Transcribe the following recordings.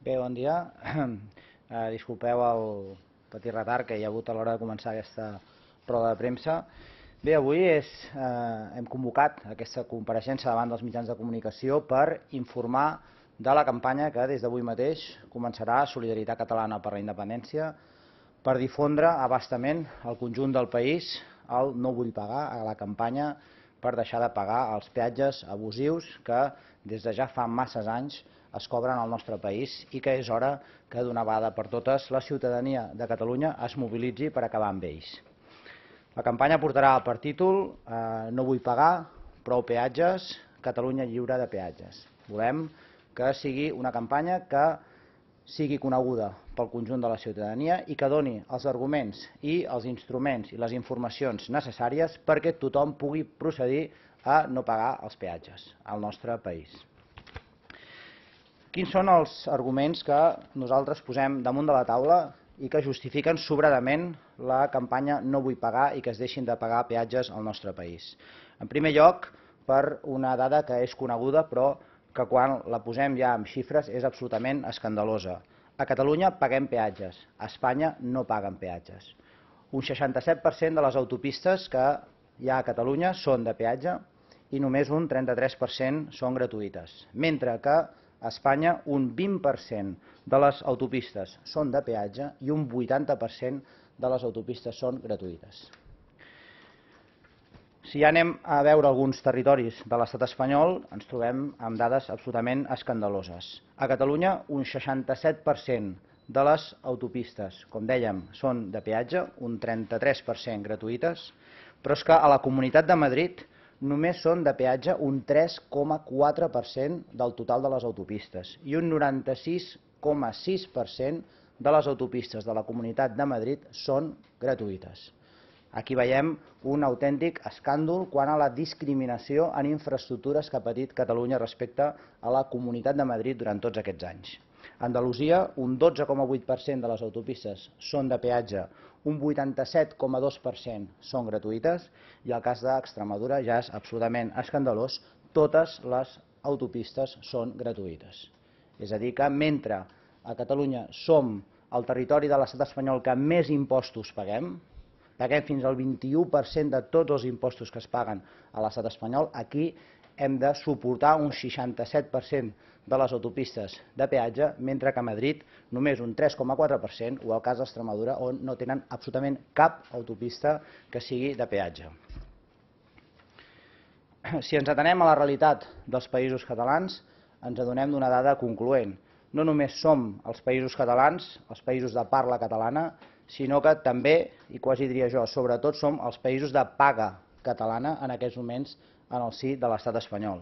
Bé, bon dia. Disculpeu el petit retard que hi ha hagut a l'hora de començar aquesta roda de premsa. Bé, avui hem convocat aquesta compareixença davant dels mitjans de comunicació per informar de la campanya que des d'avui mateix començarà Solidaritat Catalana per la Independència per difondre a bastament al conjunt del país el No vull pagar, a la campanya per deixar de pagar els peatges abusius que des de ja fa masses anys es cobren al nostre país i que és hora que d'una vegada per totes la ciutadania de Catalunya es mobilitzi per acabar amb ells. La campanya portarà per títol No vull pagar, prou peatges, Catalunya lliure de peatges. Volem que sigui una campanya que sigui coneguda pel conjunt de la ciutadania i que doni els arguments i els instruments i les informacions necessàries perquè tothom pugui procedir a no pagar els peatges al nostre país. Quins són els arguments que nosaltres posem damunt de la taula i que justifiquen sobradament la campanya No vull pagar i que es deixin de pagar peatges al nostre país? En primer lloc, per una dada que és coneguda però que quan la posem ja amb xifres és absolutament escandalosa. A Catalunya paguem peatges, a Espanya no paguen peatges. Un 67% de les autopistes que hi ha a Catalunya són de peatge i només un 33% són gratuïtes, mentre que a Espanya un 20% de les autopistes són de peatge i un 80% de les autopistes són gratuïtes. Si ja anem a veure alguns territoris de l'estat espanyol, ens trobem amb dades absolutament escandaloses. A Catalunya, un 67% de les autopistes, com dèiem, són de peatge, un 33% gratuïtes, però és que a la Comunitat de Madrid només són de peatge un 3,4% del total de les autopistes i un 96,6% de les autopistes de la Comunitat de Madrid són gratuïtes. Aquí veiem un autèntic escàndol quant a la discriminació en infraestructures que ha patit Catalunya respecte a la Comunitat de Madrid durant tots aquests anys. A Andalusia, un 12,8% de les autopistes són de peatge, un 87,2% són gratuïtes i el cas d'Extremadura ja és absolutament escandalós, totes les autopistes són gratuïtes. És a dir que mentre a Catalunya som el territori de l'estat espanyol que més impostos paguem fins al 21% de tots els impostos que es paguen a l'estat espanyol, aquí hem de suportar un 67% de les autopistes de peatge, mentre que a Madrid només un 3,4% o el cas d'Extremadura, on no tenen absolutament cap autopista que sigui de peatge. Si ens atenem a la realitat dels països catalans, ens adonem d'una dada concloent. No només som els països catalans, els països de parla catalana, sinó que també, i quasi diria jo, sobretot som els països de paga catalana en aquests moments en el si de l'estat espanyol.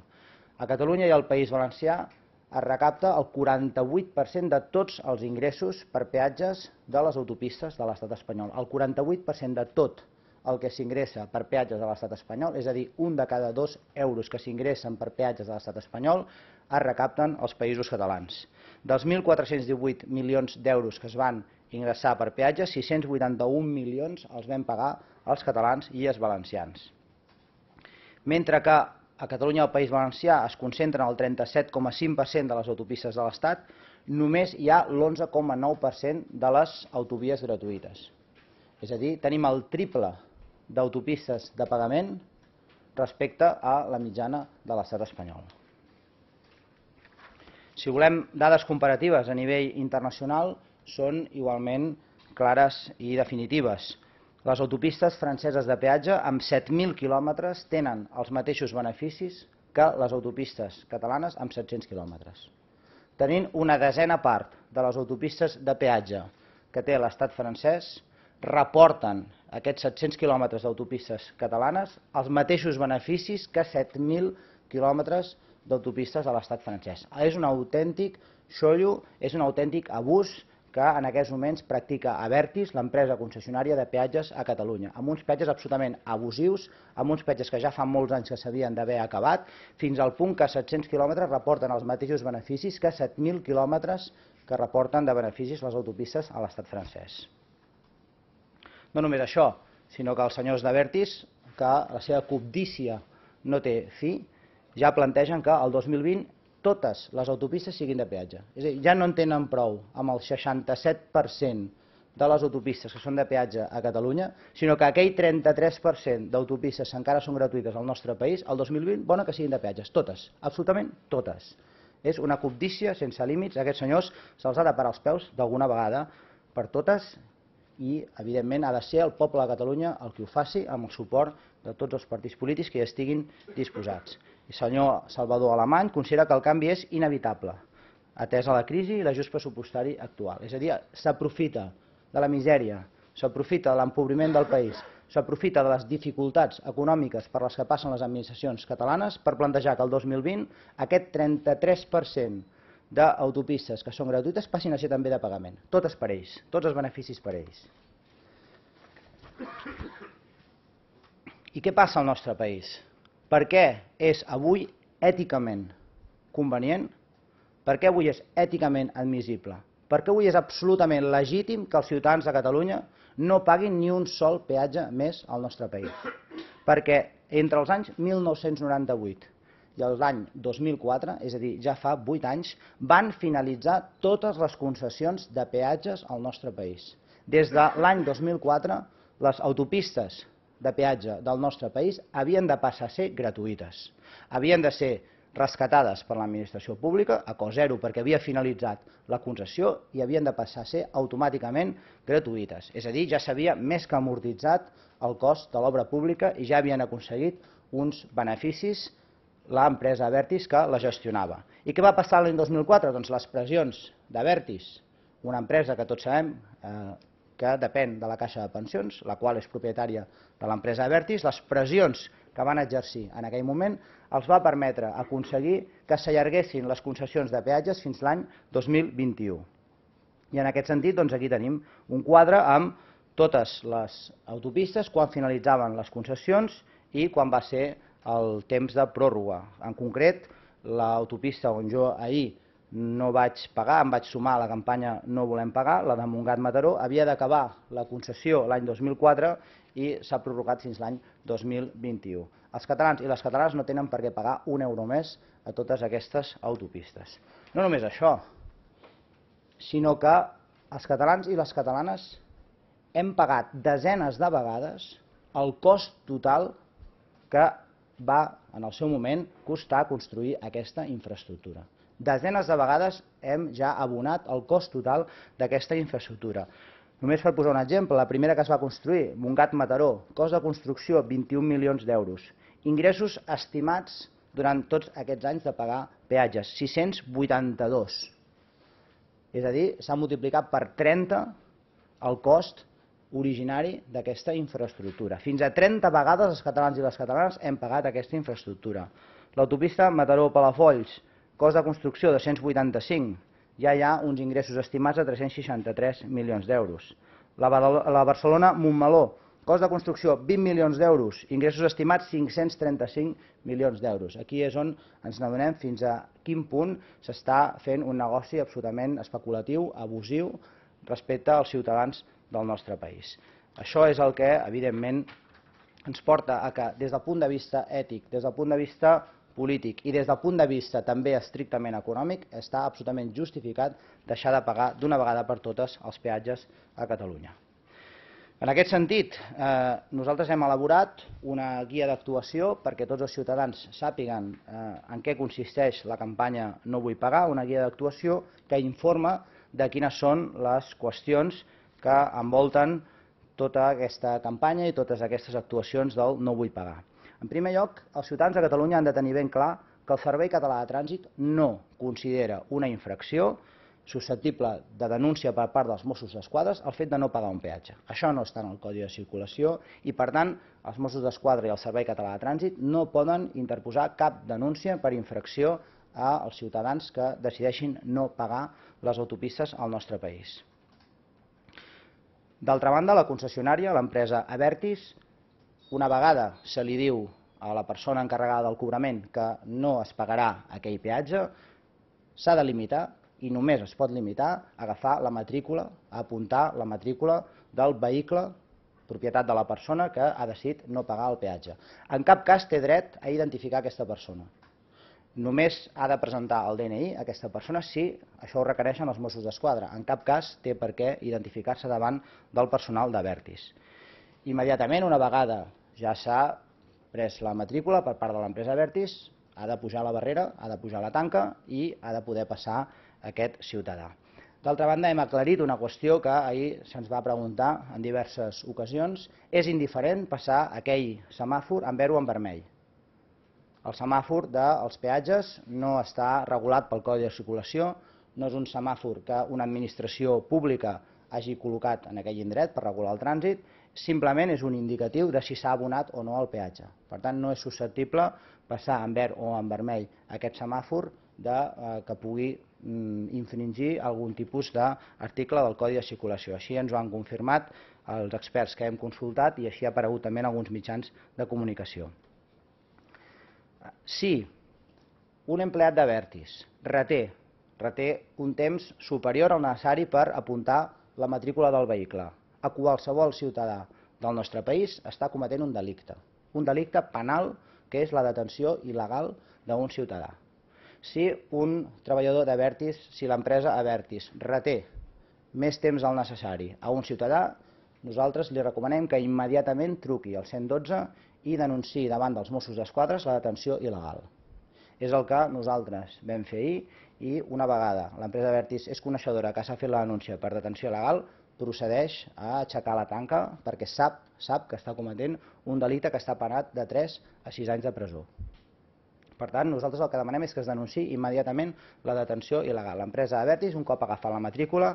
A Catalunya i al País Valencià es recapta el 48% de tots els ingressos per peatges de les autopistes de l'estat espanyol. El 48% de tot el que s'ingressa per peatges de l'estat espanyol, és a dir, un de cada 2 euros que s'ingressen per peatges de l'estat espanyol, es recapten als països catalans. Dels 1.418 milions d'euros que es van ingressar per peatges, 681 milions els vam pagar els catalans i els valencians. Mentre que a Catalunya i al País Valencià es concentren el 37,5% de les autopistes de l'Estat, només hi ha l'11,9% de les autovies gratuïtes. És a dir, tenim el triple d'autopistes de pagament respecte a la mitjana de l'estat espanyol. Si volem dades comparatives a nivell internacional, són igualment clares i definitives. Les autopistes franceses de peatge amb 7.000 quilòmetres tenen els mateixos beneficis que les autopistes catalanes amb 700 quilòmetres. Tenint una desena part de les autopistes de peatge que té l'estat francès, reporten aquests 700 quilòmetres d'autopistes catalanes els mateixos beneficis que 7.000 quilòmetres d'autopistes de l'estat francès. És un autèntic xollo, és un autèntic abús que en aquests moments practica Abertis, l'empresa concessionària de peatges a Catalunya, amb uns peatges absolutament abusius, amb uns peatges que ja fa molts anys que s'havien d'haver acabat, fins al punt que 700 quilòmetres reporten els mateixos beneficis que 7.000 quilòmetres que reporten de beneficis les autopistes a l'estat francès. No només això, sinó que els senyors d'Abertis, que la seva cobdícia no té fi, ja plantegen que el 2020 totes les autopistes siguin de peatge. És a dir, ja no en tenen prou amb el 67% de les autopistes que són de peatge a Catalunya, sinó que aquell 33% d'autopistes que encara són gratuïtes al nostre país, el 2020, bona que siguin de peatges, totes, absolutament totes. És una cobdícia sense límits, a aquests senyors se'ls ha de parar els peus d'alguna vegada per totes i, evidentment, ha de ser el poble de Catalunya el que ho faci amb el suport de tots els partits polítics que hi estiguin disposats. El senyor Salvador Alemany considera que el canvi és inevitable, atès a la crisi i l'ajust pressupostari actual. És a dir, s'aprofita de la misèria, s'aprofita de l'empobriment del país, s'aprofita de les dificultats econòmiques per les que passen les administracions catalanes per plantejar que el 2020 aquest 33% d'autopistes que són gratuïtes passin a ser també de pagament. Totes per ells, tots els beneficis per ells. I què passa al nostre país? Per què és avui èticament convenient? Per què avui és èticament admissible? Per què avui és absolutament legítim que els ciutadans de Catalunya no paguin ni un sol peatge més al nostre país? Perquè entre els anys 1998 i l'any 2004, és a dir, ja fa 8 anys, van finalitzar totes les concessions de peatges al nostre país. Des de l'any 2004, les autopistes de peatge del nostre país havien de passar a ser gratuïtes. Havien de ser rescatades per l'administració pública a cost zero perquè havia finalitzat la concessió i havien de passar a ser automàticament gratuïtes. És a dir, ja s'havia més que amortitzat el cost de l'obra pública i ja havien aconseguit uns beneficis l'empresa Abertis que la gestionava. I què va passar l'any 2004? Doncs les pressions d'Abertis, una empresa que tots sabem que depèn de la Caixa de Pensions, la qual és propietària de l'empresa Abertis, les pressions que van exercir en aquell moment els va permetre aconseguir que s'allarguessin les concessions de peatges fins l'any 2021. I en aquest sentit, doncs aquí tenim un quadre amb totes les autopistes, quan finalitzaven les concessions i quan va ser el temps de pròrroga. En concret, l'autopista on jo ahir no vaig pagar, em vaig sumar a la campanya No volem pagar, la de Montgat-Mataró, havia d'acabar la concessió l'any 2004 i s'ha prorrogat fins l'any 2021. Els catalans i les catalanes no tenen per què pagar un euro més a totes aquestes autopistes. No només això, sinó que els catalans i les catalanes hem pagat desenes de vegades el cost total que va, en el seu moment, costar construir aquesta infraestructura. Desenes de vegades hem ja abonat el cost total d'aquesta infraestructura. Només per posar un exemple, la primera que es va construir, Montgat-Mataró, cost de construcció 21 milions d'euros. Ingressos estimats durant tots aquests anys de pagar peatges, 682. És a dir, s'ha multiplicat per 30 el cost originari d'aquesta infraestructura. Fins a 30 vegades els catalans i les catalanes hem pagat aquesta infraestructura. L'autopista Mataró-Palafolls, cost de construcció de 185, ja hi ha uns ingressos estimats de 363 milions d'euros. La Barcelona-Montmeló, cost de construcció 20 milions d'euros, ingressos estimats 535 milions d'euros. Aquí és on ens n'adonem fins a quin punt s'està fent un negoci absolutament especulatiu, abusiu, respecte als ciutadans del nostre país. Això és el que, evidentment, ens porta a que, des del punt de vista ètic, des del punt de vista polític i des del punt de vista també estrictament econòmic, està absolutament justificat deixar de pagar d'una vegada per totes els peatges a Catalunya. En aquest sentit, nosaltres hem elaborat una guia d'actuació perquè tots els ciutadans sàpiguen en què consisteix la campanya No vull pagar, una guia d'actuació que informa de quines són les qüestions que envolten tota aquesta campanya i totes aquestes actuacions del No vull pagar. En primer lloc, els ciutadans de Catalunya han de tenir ben clar que el Servei Català de Trànsit no considera una infracció susceptible de denúncia per part dels Mossos d'Esquadra el fet de no pagar un peatge. Això no està en el Codi de Circulació i, per tant, els Mossos d'Esquadra i el Servei Català de Trànsit no poden interposar cap denúncia per infracció als ciutadans que decideixin no pagar les autopistes al nostre país. D'altra banda, la concessionària, l'empresa Abertis, una vegada se li diu a la persona encarregada del cobrament que no es pagarà aquell peatge, s'ha de limitar i només es pot limitar a agafar la matrícula, a apuntar la matrícula del vehicle propietat de la persona que ha decidit no pagar el peatge. En cap cas té dret a identificar aquesta persona. Només ha de presentar el DNI aquesta persona si això ho requereixen els Mossos d'Esquadra. En cap cas té per què identificar-se davant del personal d'Abertis. Immediatament, una vegada ja s'ha pres la matrícula per part de l'empresa Abertis, ha de pujar la barrera, ha de pujar la tanca i ha de poder passar aquest ciutadà. D'altra banda, hem aclarit una qüestió que ahir se'ns va preguntar en diverses ocasions. És indiferent passar aquell semàfor en verd o en vermell. El semàfor dels peatges no està regulat pel Codi de Circulació, no és un semàfor que una administració pública hagi col·locat en aquell indret per regular el trànsit, simplement és un indicatiu de si s'ha abonat o no el peatge. Per tant, no és susceptible passar en verd o en vermell aquest semàfor que pugui infringir algun tipus d'article del Codi de Circulació. Així ens ho han confirmat els experts que hem consultat i així ha aparegut també en alguns mitjans de comunicació. Si un empleat d'Abertis reté un temps superior al necessari per apuntar la matrícula del vehicle a qualsevol ciutadà del nostre país, està cometent un delicte penal, que és la detenció il·legal d'un ciutadà. Si un treballador d'Abertis, si l'empresa Abertis reté més temps del necessari a un ciutadà, nosaltres li recomanem que immediatament truqui al 112 i denunciï davant dels Mossos d'Esquadra la detenció il·legal. És el que nosaltres vam fer ahir i una vegada l'empresa Abertis és coneixedora que s'ha fet la denúncia per detenció il·legal, procedeix a aixecar la tanca perquè sap que està cometent un delicte que està penat de 3 a 6 anys de presó. Per tant, nosaltres el que demanem és que es denunciï immediatament la detenció il·legal. L'empresa Abertis, un cop agafat la matrícula,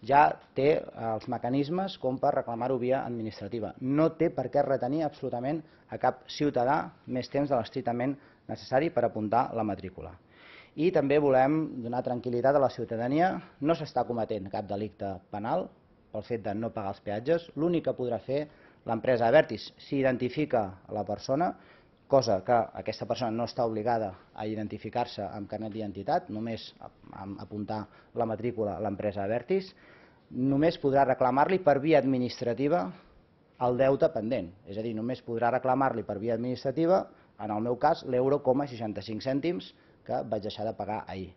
ja té els mecanismes com per reclamar-ho via administrativa. No té per què retenir absolutament a cap ciutadà més temps de l'estrictament necessari per apuntar la matrícula. I també volem donar tranquil·litat a la ciutadania. No s'està cometent cap delicte penal pel fet de no pagar els peatges. L'únic que podrà fer l'empresa Abertis, si identifica la persona, cosa que aquesta persona no està obligada a identificar-se amb carnet d'identitat, només apuntar la matrícula a l'empresa Abertis, només podrà reclamar-li per via administrativa el deute pendent. És a dir, només podrà reclamar-li per via administrativa, en el meu cas, l'1,65 que vaig deixar de pagar ahir.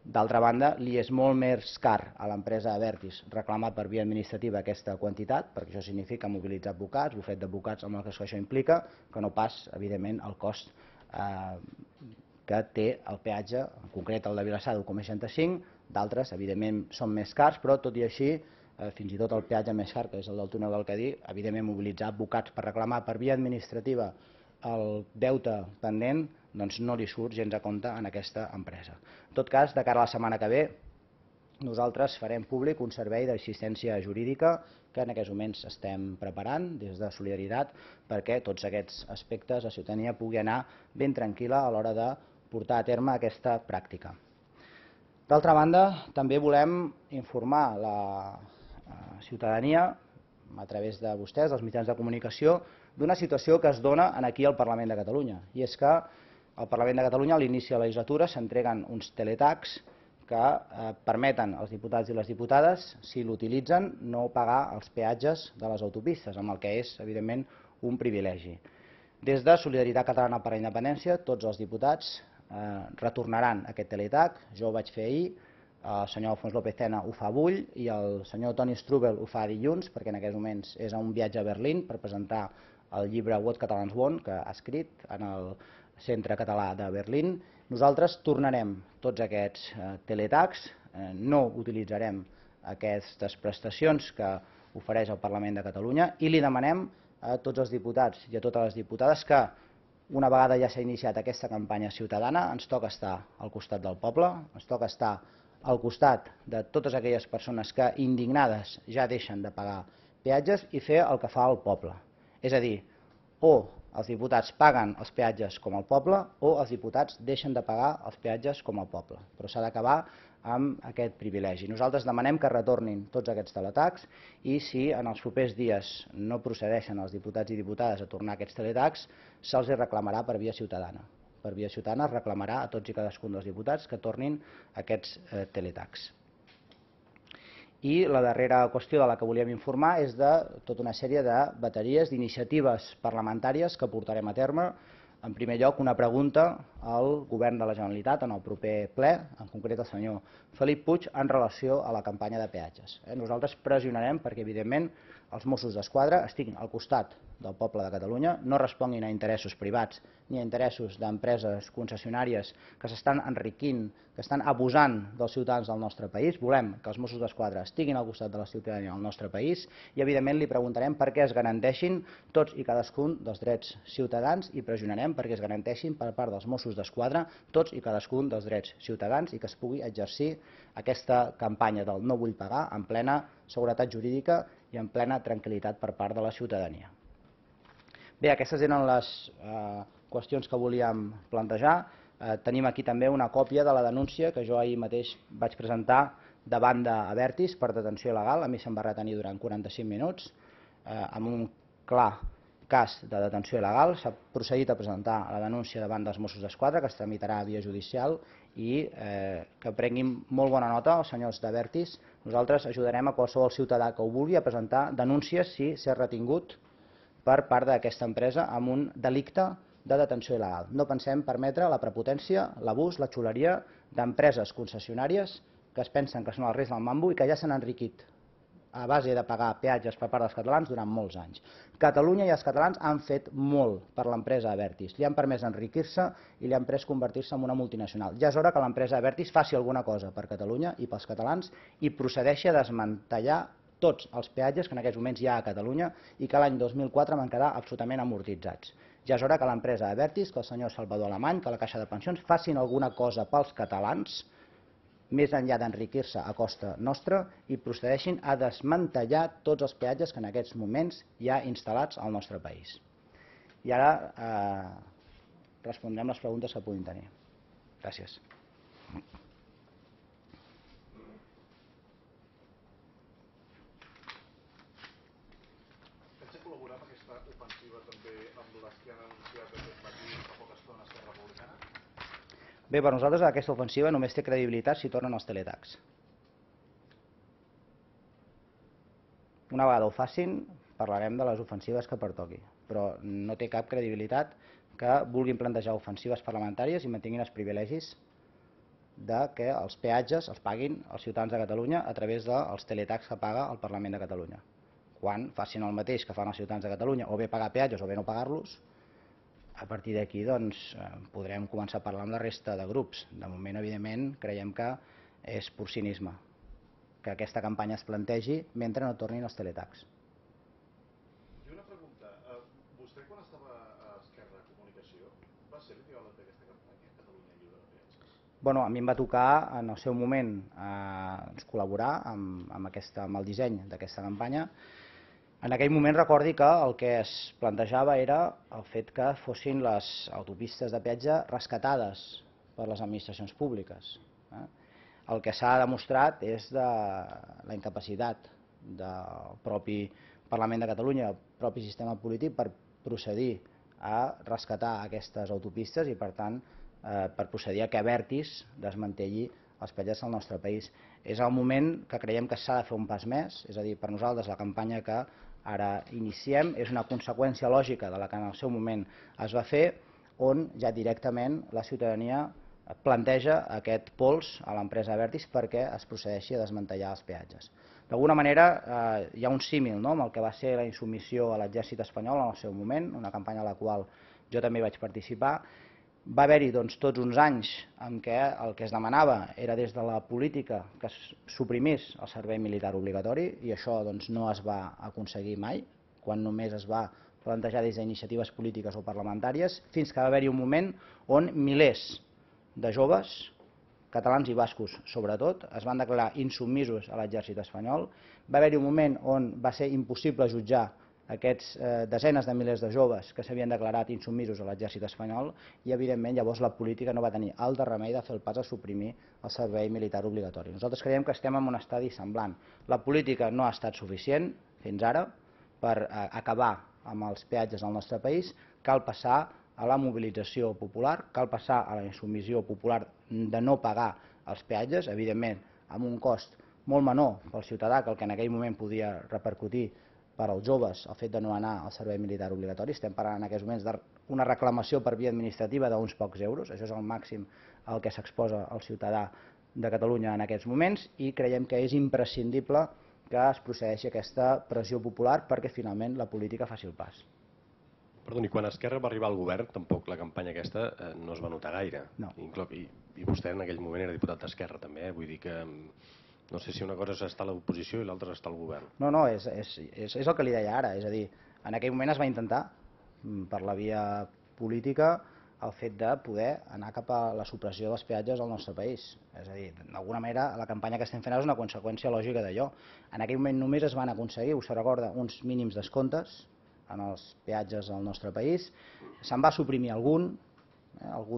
D'altra banda, li és molt més car a l'empresa Abertis reclamar per via administrativa aquesta quantitat, perquè això significa mobilitzar advocats, bufet d'advocats amb el que això implica, que no pas, evidentment, el cost que té el peatge, en concret el de Vilassar d'1,65, d'altres, evidentment, són més cars, però tot i així, fins i tot el peatge més car, que és el del túnel del Cadí, evidentment mobilitzar advocats per reclamar per via administrativa el deute pendent, doncs no li surt gens a compte en aquesta empresa. En tot cas, de cara a la setmana que ve, nosaltres farem públic un servei d'assistència jurídica que en aquests moments estem preparant des de Solidaritat perquè tots aquests aspectes la ciutadania pugui anar ben tranquil·la a l'hora de portar a terme aquesta pràctica. D'altra banda, també volem informar la ciutadania a través de vostès, dels mitjans de comunicació, d'una situació que es dona aquí al Parlament de Catalunya. I és que al Parlament de Catalunya, a l'inici de la legislatura, s'entreguen uns teletacs que permeten als diputats i les diputades, si l'utilitzen, no pagar els peatges de les autopistes, amb el que és, evidentment, un privilegi. Des de Solidaritat Catalana per la Independència, tots els diputats retornaran aquest teletac. Jo ho vaig fer ahir, el senyor Alfons López Tena ho fa avui i el senyor Toni Strubel ho fa dilluns, perquè en aquests moments és a un viatge a Berlín per presentar el llibre What Catalans Want, que ha escrit en el Centre Català de Berlín. Nosaltres tornarem tots aquests teletacs, no utilitzarem aquestes prestacions que ofereix el Parlament de Catalunya i li demanem a tots els diputats i a totes les diputades que, una vegada ja s'ha iniciat aquesta campanya ciutadana, ens toca estar al costat del poble, ens toca estar al costat de totes aquelles persones que indignades ja deixen de pagar peatges i fer el que fa el poble. És a dir, o els diputats paguen els peatges com el poble o els diputats deixen de pagar els peatges com el poble. Però s'ha d'acabar amb aquest privilegi. Nosaltres demanem que retornin tots aquests teletacs i si en els propers dies no procedeixen els diputats i diputades a tornar aquests teletacs, se'ls reclamarà per via ciutadana. Per via ciutadana es reclamarà a tots i cadascun dels diputats que tornin aquests teletacs. I la darrera qüestió de la que volíem informar és de tota una sèrie de bateries d'iniciatives parlamentàries que portarem a terme en primer lloc, una pregunta al Govern de la Generalitat en el proper ple, en concret al senyor Felip Puig, en relació a la campanya de peatges. Nosaltres pressionarem perquè, evidentment, els Mossos d'Esquadra estiguin al costat del poble de Catalunya, no responguin a interessos privats ni a interessos d'empreses concessionàries que s'estan enriquint, que estan abusant dels ciutadans del nostre país. Volem que els Mossos d'Esquadra estiguin al costat de la ciutadania del nostre país i, evidentment, li preguntarem per què es garanteixin tots i cadascun dels drets ciutadans i pressionarem perquè es garanteixin per part dels Mossos d'Esquadra tots i cadascun dels drets ciutadans i que es pugui exercir aquesta campanya del no vull pagar en plena seguretat jurídica i en plena tranquil·litat per part de la ciutadania. Bé, aquestes eren les qüestions que volíem plantejar. Tenim aquí també una còpia de la denúncia que jo ahir mateix vaig presentar davant d'Abertis per detenció il·legal. A mi se'm va retenir durant 45 minuts amb un clar cas de detenció il·legal. S'ha procedit a presentar la denúncia davant dels Mossos d'Esquadra, que es tramitarà via judicial i que prenguin molt bona nota els senyors d'Abertis. Nosaltres ajudarem a qualsevol ciutadà que ho vulgui a presentar denúncies si s'ha retingut per part d'aquesta empresa amb un delicte de detenció il·legal. No pensem permetre la prepotència, l'abús, la xuleria d'empreses concessionàries que es pensen que són el rei del mambo i que ja s'han enriquit a base de pagar peatges per part dels catalans durant molts anys. Catalunya i els catalans han fet molt per l'empresa Abertis. Li han permès enriquir-se i li han pres convertir-se en una multinacional. Ja és hora que l'empresa Abertis faci alguna cosa per Catalunya i pels catalans i procedeixi a desmantellar tots els peatges que en aquests moments hi ha a Catalunya i que l'any 2004 van quedar absolutament amortitzats. Ja és hora que l'empresa Abertis, que el senyor Salvador Alemany, que la Caixa de Pensions facin alguna cosa pels catalans, més enllà d'enriquir-se a costa nostra, i procedeixin a desmantellar tots els peatges que en aquests moments hi ha instal·lats al nostre país. I ara respondrem les preguntes que puguin tenir. Gràcies. Pensa col·laborar amb aquesta ofensiva també amb les que han anunciat aquest matí fa poca estona Esquerra Republicana? Bé, per nosaltres aquesta ofensiva només té credibilitat si tornen els teletacs. Una vegada ho facin, parlarem de les ofensives que pertoqui, però no té cap credibilitat que vulguin plantejar ofensives parlamentàries i mantinguin els privilegis de que els peatges els paguin els ciutadans de Catalunya a través dels teletacs que paga el Parlament de Catalunya. Quan facin el mateix que fan els ciutadans de Catalunya, o bé pagar peatges o bé no pagar-los, a partir d'aquí podrem començar a parlar amb la resta de grups. De moment, evidentment, creiem que és pur cinisme que aquesta campanya es plantegi mentre no tornin els teletacs. I una pregunta. Vostè, quan estava a Esquerra Comunicació, va ser l'ideòleg d'aquesta campanya, Catalunya lliure de peatges? Bueno, a mi em va tocar en el seu moment col·laborar amb el disseny d'aquesta campanya. En aquell moment recordi que el que es plantejava era el fet que fossin les autopistes de peatge rescatades per les administracions públiques. El que s'ha demostrat és la incapacitat del propi Parlament de Catalunya, el propi sistema polític, per procedir a rescatar aquestes autopistes i, per tant, per procedir a que Abertis desmantelli els peatges del nostre país. És el moment que creiem que s'ha de fer un pas més, és a dir, per nosaltres la campanya que ara iniciem és una conseqüència lògica de la que en el seu moment es va fer, on ja directament la ciutadania planteja aquest pols a l'empresa Abertis perquè es procedeixi a desmantellar els peatges. D'alguna manera hi ha un símil amb el que va ser la insubmissió a l'exèrcit espanyol en el seu moment, una campanya a la qual jo també vaig participar. Va haver-hi tots uns anys en què el que es demanava era des de la política que es suprimís el servei militar obligatori i això no es va aconseguir mai, quan només es va plantejar des d'iniciatives polítiques o parlamentàries, fins que va haver-hi un moment on milers de joves, catalans i bascos sobretot, es van declarar insubmisos a l'exèrcit espanyol. Va haver-hi un moment on va ser impossible jutjar aquests desenes de milers de joves que s'havien declarat insubmisos a l'exèrcit espanyol i, evidentment, llavors la política no va tenir altre remei de fer el pas a suprimir el servei militar obligatori. Nosaltres creiem que estem en un estadi semblant. La política no ha estat suficient fins ara per acabar amb els peatges del nostre país. Cal passar a la mobilització popular, cal passar a la insubmissió popular de no pagar els peatges, evidentment amb un cost molt menor pel ciutadà que el que en aquell moment podia repercutir per als joves el fet de no anar al servei militar obligatori. Estem parlant en aquests moments d'una reclamació per via administrativa d'uns pocs euros. Això és el màxim al que s'exposa el ciutadà de Catalunya en aquests moments i creiem que és imprescindible que es procedeixi a aquesta pressió popular perquè finalment la política faci el pas. Perdoni, quan Esquerra va arribar al govern, tampoc la campanya aquesta no es va notar gaire. No. I vostè en aquell moment era diputat d'Esquerra també, vull dir que no sé si una cosa és estar a l'oposició i l'altra és estar al govern. No, és el que li deia ara, és a dir, en aquell moment es va intentar, per la via política, el fet de poder anar cap a la supressió dels peatges al nostre país. És a dir, d'alguna manera, la campanya que estem fent és una conseqüència lògica d'allò. En aquell moment només es van aconseguir, us recorda, uns mínims descomptes en els peatges al nostre país. Se'n va suprimir algun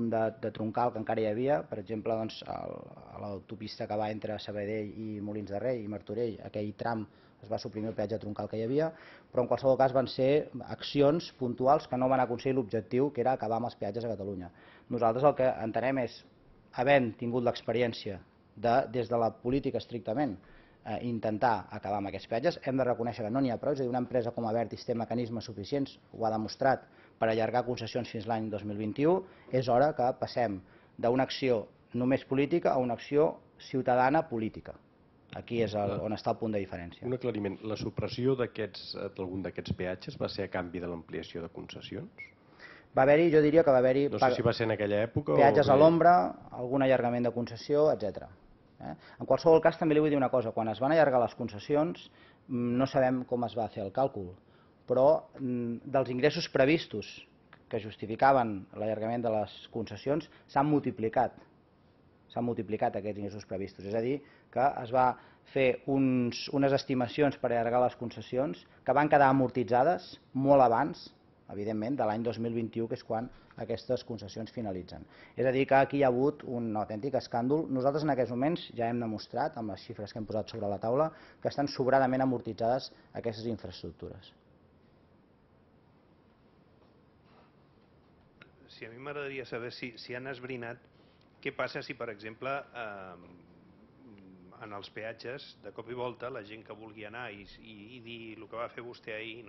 de troncal que encara hi havia, per exemple, a l'autopista que va entre Sabadell i Molins de Rei i Martorell, aquell tram es va suprimir el peatge troncal que hi havia, però en qualsevol cas van ser accions puntuals que no van aconseguir l'objectiu, que era acabar amb els peatges a Catalunya. Nosaltres el que entenem és, havent tingut l'experiència des de la política estrictament, intentar acabar amb aquests peatges, hem de reconèixer que no n'hi ha prou, és a dir, una empresa com Abertis té mecanismes suficients, ho ha demostrat, per allargar concessions fins l'any 2021, és hora que passem d'una acció només política a una acció ciutadana política. Aquí és on està el punt de diferència. Un aclariment, la supressió d'algun d'aquests peatges va ser a canvi de l'ampliació de concessions? Va haver-hi, jo diria que va haver-hi... No sé si va ser en aquella època peatges a l'ombra, algun allargament de concessió, etc. En qualsevol cas també li vull dir una cosa, quan es van allargar les concessions no sabem com es va fer el càlcul, però dels ingressos previstos que justificaven l'allargament de les concessions s'han multiplicat aquests ingressos previstos. És a dir, que es va fer unes estimacions per allargar les concessions que van quedar amortitzades molt abans, evidentment, de l'any 2021, que és quan aquestes concessions finalitzen. És a dir, que aquí hi ha hagut un autèntic escàndol. Nosaltres en aquests moments ja hem demostrat, amb les xifres que hem posat sobre la taula, que estan sobradament amortitzades aquestes infraestructures. Sí, a mi m'agradaria saber si han esbrinat què passa si, per exemple, en els peatges, de cop i volta, la gent que vulgui anar i dir el que va fer vostè ahir,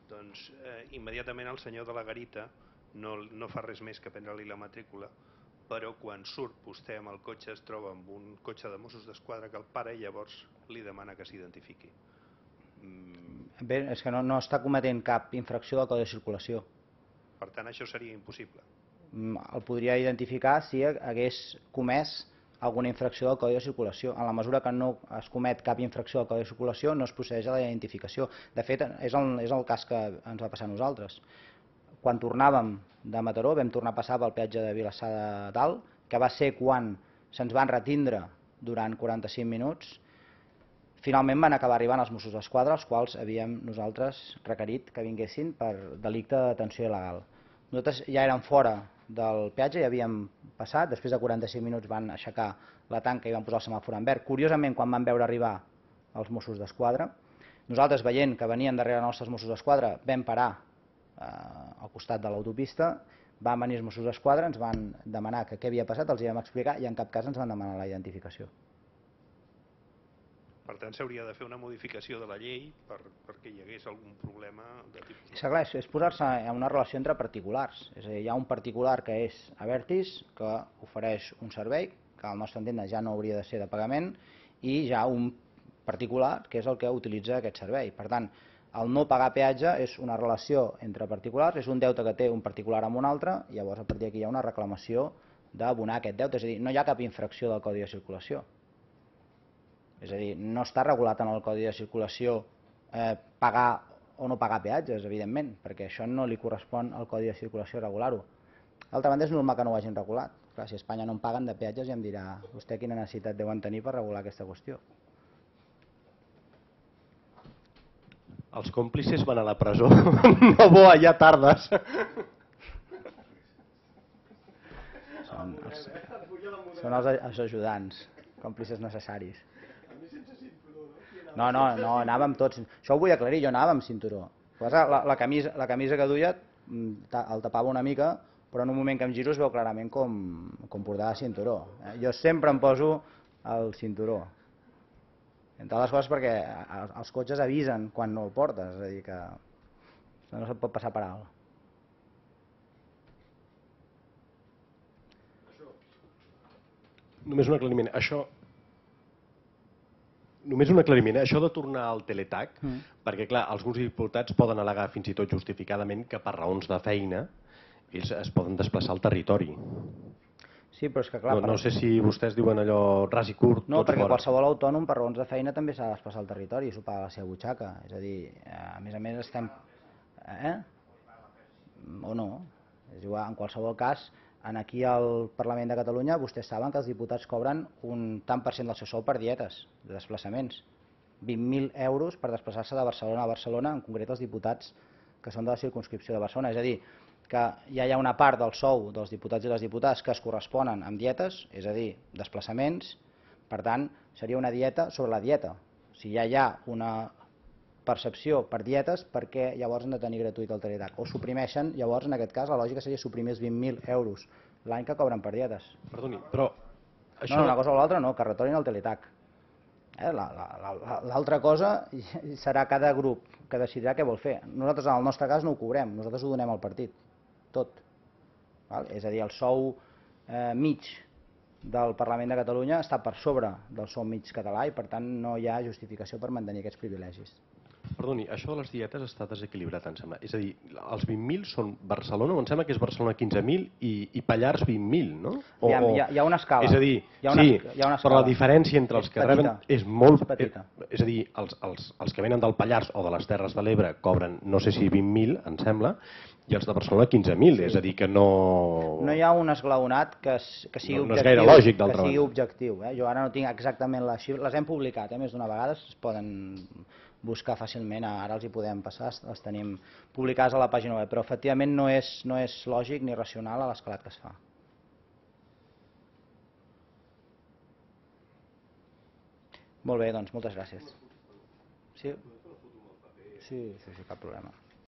doncs immediatament el senyor de la garita no fa res més que prendre-li la matrícula, però quan surt vostè amb el cotxe es troba amb un cotxe de Mossos d'Esquadra que el para i llavors li demana que s'identifiqui. Bé, és que no està cometent cap infracció del Codi de Circulació. Per tant, això seria impossible. El podria identificar si hagués comès alguna infracció del Codi de Circulació. En la mesura que no es comet cap infracció del Codi de Circulació no es procedeix a la identificació. De fet, és el cas que ens va passar a nosaltres. Quan tornàvem de Mataró vam tornar a passar pel peatge de Vilassar de Dalt, que va ser quan se'ns van retindre durant 45 minuts. Finalment van acabar arribant els Mossos d'Esquadra, els quals havíem nosaltres requerit que vinguessin per delicte de detenció il·legal. Nosaltres ja érem fora del peatge, ja havíem passat, després de 45 minuts van aixecar la tanca i van posar el semàfor en verd. Curiosament, quan van veure arribar els Mossos d'Esquadra, nosaltres veient que venien darrere nostres Mossos d'Esquadra vam parar al costat de l'autopista, van venir els Mossos d'Esquadra, ens van demanar què havia passat, els hi vam explicar i en cap cas ens van demanar la identificació. Per tant, s'hauria de fer una modificació de la llei perquè hi hagués algun problema de tipus... És clar, és posar-se en una relació entre particulars. És a dir, hi ha un particular que és Abertis, que ofereix un servei, que al nostre entendre ja no hauria de ser de pagament, i hi ha un particular que és el que utilitza aquest servei. Per tant, el no pagar peatge és una relació entre particulars, és un deute que té un particular amb un altre, i llavors a partir d'aquí hi ha una reclamació d'abonar aquest deute. És a dir, no hi ha cap infracció del Codi de Circulació. És a dir, no està regulat en el Codi de Circulació pagar o no pagar peatges, evidentment, perquè això no li correspon al Codi de Circulació regular-ho. D'altra banda, és normal que no ho hagin regulat. Clar, si a Espanya no en paguen de peatges ja em dirà vostè quina necessitat deuen tenir per regular aquesta qüestió. Els còmplices van a la presó. No bo, allà tardes. Són els ajudants, còmplices necessaris. No, anàvem tots. Això ho vull aclarir, jo anava amb cinturó. La camisa que duia el tapava una mica, però en un moment que em giro es veu clarament com portava cinturó. Jo sempre em poso el cinturó. Entre les coses perquè els cotxes avisen quan no el portes, és a dir que no se't pot passar per alt. Només un aclariment. Només un aclariment. Això de tornar al teletac, perquè clar, alguns diputats poden al·legar fins i tot justificadament que per raons de feina ells es poden desplaçar al territori. Sí, però és que clar... No sé si vostès diuen allò ras i curt, No, tots perquè fora. qualsevol autònom per raons de feina també s'ha de desplaçar al territori i s'ho paga a la seva butxaca. És a dir, a més estem... O no. És igual, en qualsevol cas, aquí al Parlament de Catalunya vostès saben que els diputats cobren un tant per cent del seu sou per dietes de desplaçaments. 20.000 euros per desplaçar-se de Barcelona a Barcelona, en concret els diputats que són de la circumscripció de Barcelona. És a dir, que ja hi ha una part del sou dels diputats i les diputades que es corresponen amb dietes, és a dir, desplaçaments. Per tant, seria una dieta sobre la dieta. Si ja hi ha una percepció per dietes, per què llavors han de tenir gratuït el teletac? O suprimeixen, llavors en aquest cas la lògica seria suprimir els 20.000 euros l'any que cobren per dietes. Perdoni, però... No, una cosa o l'altra no, que retornin el teletac. L'altra cosa serà cada grup que decidirà què vol fer. Nosaltres en el nostre cas no ho cobrem, nosaltres ho donem al partit, tot. És a dir, el sou mig del Parlament de Catalunya està per sobre del sou mig català i per tant no hi ha justificació per mantenir aquests privilegis. Perdoni, això de les dietes està desequilibrat, em sembla. És a dir, els 20.000 són Barcelona, o em sembla que és Barcelona 15.000 i Pallars 20.000, no? Hi ha una escala. És a dir, sí, però la diferència entre els que reben és molt... petita. És a dir, els que venen del Pallars o de les Terres de l'Ebre cobren, no sé si 20.000, em sembla, i els de Barcelona 15.000, és a dir, que no... No hi ha un esglaonat que sigui objectiu. No és gaire lògic, d'altra banda. Que sigui objectiu. Jo ara no tinc exactament les xifres, les hem publicat més d'una vegada, es poden buscar fàcilment, ara els hi podem passar, les tenim publicades a la pàgina web, però efectivament no és lògic ni racional a l'escalat que es fa. Molt bé, doncs moltes gràcies. Sí, cap problema.